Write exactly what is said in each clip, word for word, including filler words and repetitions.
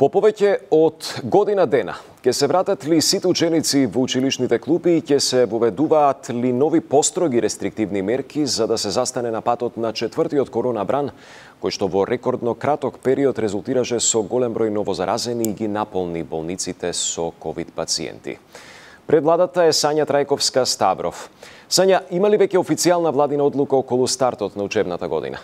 По повеќе од година дена, ќе се вратат ли сите ученици во училишните клупи и ќе се воведуваат ли нови построги рестриктивни мерки за да се застане на патот на четвртиот коронабран, кој што во рекордно краток период резултираше со голем број новозаразени и ги наполни болниците со ковид пациенти. Пред владата е Сања Трајковска-Ставров. Сања, има ли веќе официјална владина одлука околу стартот на учебната година?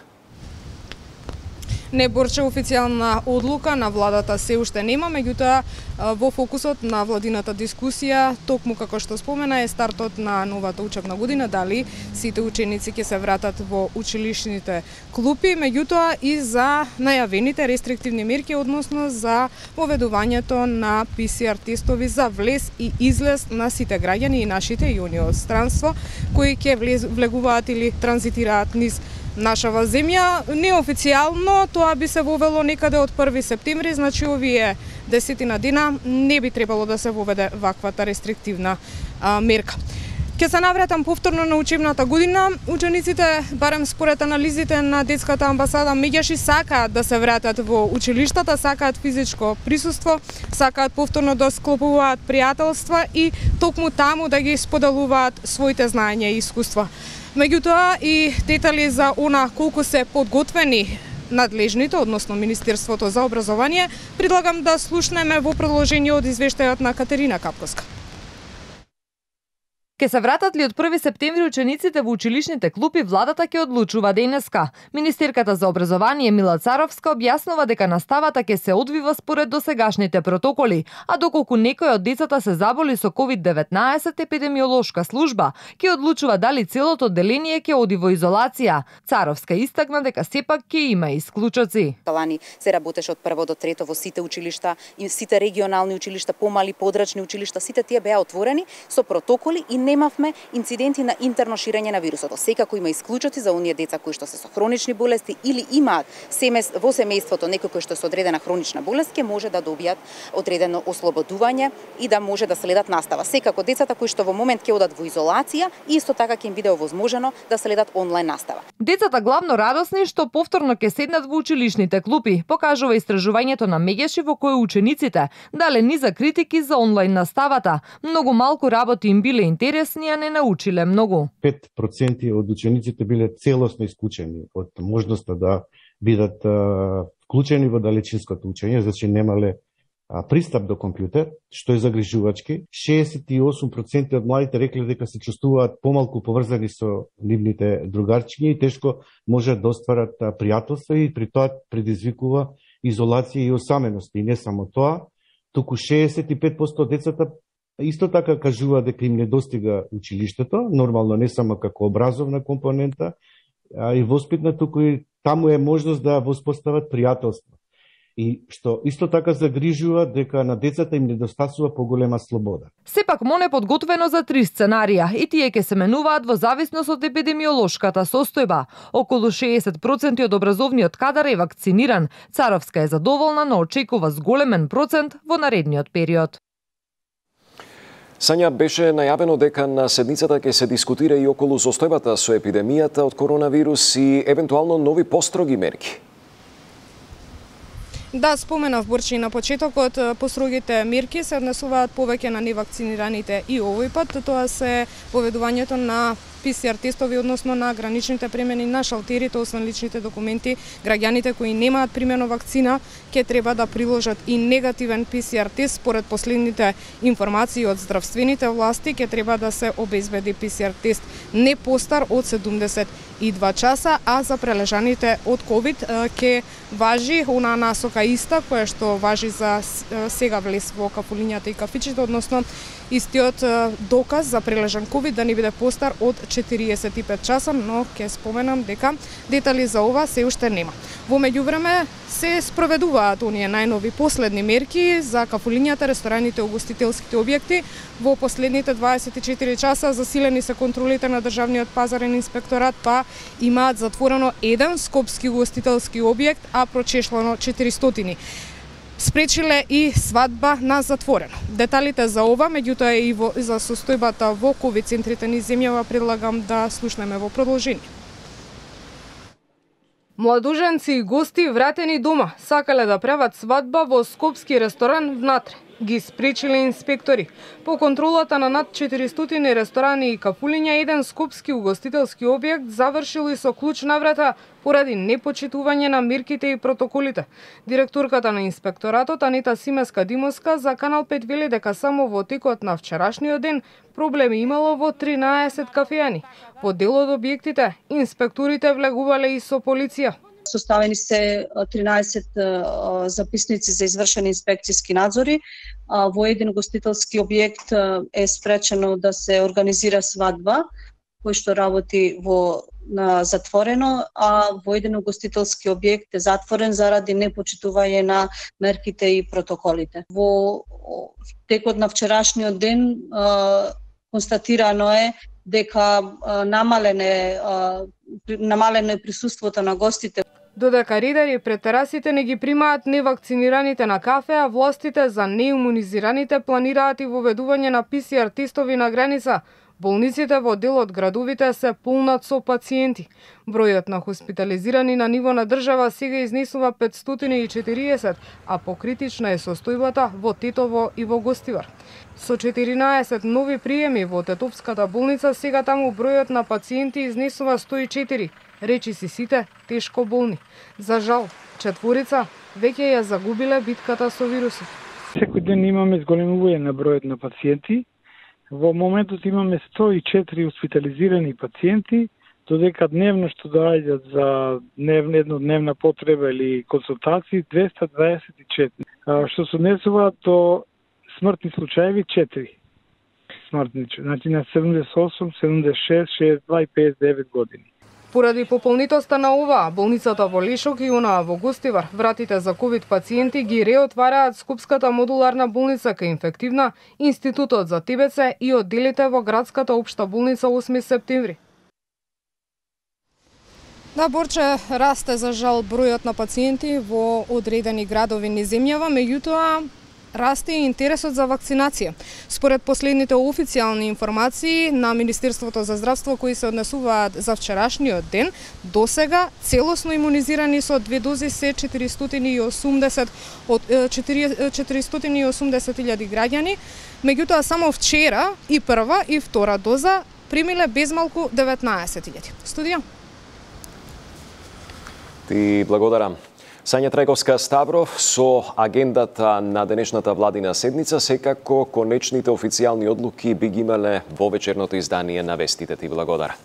Не, Борче, официјална одлука на владата се уште нема, меѓутоа во фокусот на владината дискусија, токму како што спомена, е стартот на новата учебна година, дали сите ученици ќе се вратат во училишните клупи, меѓутоа и за најавените рестриктивни мерки, односно за воведувањето на пи си ар тестови за влез и излез на сите граѓани и нашите и они од странство, кои ќе влегуваат или транзитираат низ нашава земја. Неофицијално тоа би се вовело некаде од први септември, значи овие десетина дена не би требало да се воведе ваквата рестриктивна а, мерка. Ке се навратам повторно на учебната година. Учениците, барем според анализите на детската амбасада, меѓаши сакаат да се вратат во училиштата, сакаат физичко присуство, сакаат повторно да склопуваат пријателства и токму таму да ги споделуваат своите знаења и искуства. Меѓутоа и детали за она колку се подготвени надлежните, односно Министерството за образование, предлагам да слушнеме во продолжение од извештајот на Катерина Капковска. Ке се вратат ли од први септември учениците во училишните клупи, владата ќе одлучува денеска. Министерката за образование Мила Царовска објаснува дека наставата ќе се одвива според досегашните протоколи, а доколку некој од децата се заболи со ковид деветнаесет, епидемиолошка служба ќе одлучува дали целото одделение ќе оди во изолација. Царовска истакна дека сепак ќе има исклучоци. Лани се работеше од прво до трето во сите училишта и сите регионални училишта, помали подрачни училишта, сите тие беа отворени со протоколи и немавме инциденти на интерно ширење на вирусот. Секако има исклучоци за оние деца кои што се со хронични болести или имаат семејство, во семејството некој кој што се одредена хронична болест, ќе може да добијат одредено ослободување и да може да следат настава. Секако децата кои што во момент ќе одат во изолација, исто така ќе им биде овозможено да следат онлайн настава. Децата главно радосни што повторно ќе седнат во училишните клупи, покажува истражувањето на Меѓаши во кој учениците дале низа критики за онлайн наставата. Многу малку работи им биле интересни, а не научиле многу. пет проценти од учениците биле целосно исклучени од можноста да бидат а, вклучени во далечинското учење, значи немале а, пристап до компјутер, што е загрижувачки. шеесет и осум проценти од младите рекле дека се чувствуваат помалку поврзани со нивните другарчиња и тешко можат да остварат а, пријателства и при тоа предизвикува изолација и осаменост. И не само тоа, туку шеесет и пет проценти од децата исто така кажува дека им не достига училиштето, нормално не само како образовна компонента, а и воспитна, туку и таму е можност да воспостават пријателство. И што исто така загрижува дека на децата им недостасува поголема слобода. Сепак МОН е подготвено за три сценарија и тие ќе се менуваат во зависност од епидемиолошката состојба. Околу шеесет проценти од образовниот кадар е вакциниран. Царовска е задоволна, но очекува зголемен процент во наредниот период. Сања, беше најавено дека на седницата ќе се дискутира и околу состојбата со епидемијата од коронавирус и евентуално нови построги мерки. Да, споменав, Борче, на почетокот, построгите мерки се однесуваат повеќе на невакцинираните и овој пат. Тоа се поведувањето на пи си ар тестови, односно на граничните премени на шалтерите, освен личните документи. Граѓаните кои немаат примено вакцина ќе треба да приложат и негативен пи си ар тест. Според последните информации од здравствените власти, ќе треба да се обезбеди пи си ар тест не постар од седумдесет и два часа, а за прележаните од ковид ќе важи онаа насока иста, која што важи за сега влез во кафулињата и кафичите, односно истиот доказ за прележан ковид да не биде постар од четириесет и пет часа, но ќе споменам дека детали за ова се уште нема. Во меѓувреме се спроведуваат оние најнови последни мерки за кафулињата, рестораните, угостителските објекти. Во последните дваесет и четири часа засилени се контролите на државниот пазарен инспекторат, па имаат затворено еден скопски угостителски објект, а прочешлано четиристотини. Спречиле и свадба на затворено. Деталите за ова, меѓутоа и во, за состојбата во ковид центрите низ земјава, предлагам да слушнеме во продолжение. Младоженци и гости вратени дома сакале да прават свадба во скопски ресторан внатре. Ги спречиле инспектори. По контролата на над четиристотини ресторани и кафулиња, еден скопски угостителски објект завршил и со клуч на врата поради непочитување на мерките и протоколите. Директорката на инспекторатот Анита Симеска-Димовска за Канал пет вели дека само во текот на вчерашниот ден проблеми имало во тринаесет кафеани. По дел од објектите, инспекторите влегувале и со полиција. Составени се тринаесет записници за извршени инспекцијски надзори. Во еден гостителски објект е спречено да се организира свадба, кој што работи во на затворено, а во еден гостителски објект е затворен заради непочитување на мерките и протоколите. Во текот на вчерашниот ден констатирано е дека намалене намалено е присуството на гостите. Додека ридари пред терасите не ги примаат невакцинираните на кафе, а властите за неимунизираните планираат и воведување на пи си ар тестови на граница. Болниците во дел од градовите се полнат со пациенти. Бројот на хоспитализирани на ниво на држава сега изнесува петстотини и четириесет, а покритична е состојбата во Тетово и во Гостивар. Со четиринаесет нови приеми во Тетовската болница, сега таму бројот на пациенти изнесува сто и четири, речиси сите тешко болни. За жал, четворица веќе ја загубиле битката со вирусот. Секој ден имаме зголемување на бројот на пациенти. Во моментот имаме сто и четири хоспитализирани пациенти, додека дневно што доаѓаат за дневна еднодневна потреба или консултации двеста дваесет и четири, што се однесува до смртни случаеви четири. Смртни, значи на седумдесет и осум, седумдесет и шест, шеесет и два и педесет и девет години. Поради пополнитоста на оваа, болницата во Лешок и онаа во Гостивар, вратите за ковид пациенти ги реотвараат Скопската модуларна болница кај инфективна, Институтот за Т Б Ц и одделите во градската општа болница осми септември. Да, Борче, расте за жал бројот на пациенти во одредени градови низ земјава, меѓутоа расте и интересот за вакцинација. Според последните официјални информации на Министерството за здравство кои се однесуваат за вчерашниот ден, досега целосно имунизирани со две дози се четиристотини и осумдесет од четиристотини и осумдесет илјади граѓани, меѓутоа само вчера и прва и втора доза примиле безмалку деветнаесет илјади. Студија. Ти благодарам. Сања Треговска Ставров со агендата на денешната владина седница, секако конечните официјални одлуки би ги имале во вечерното издание на вестите. Ти благодарам.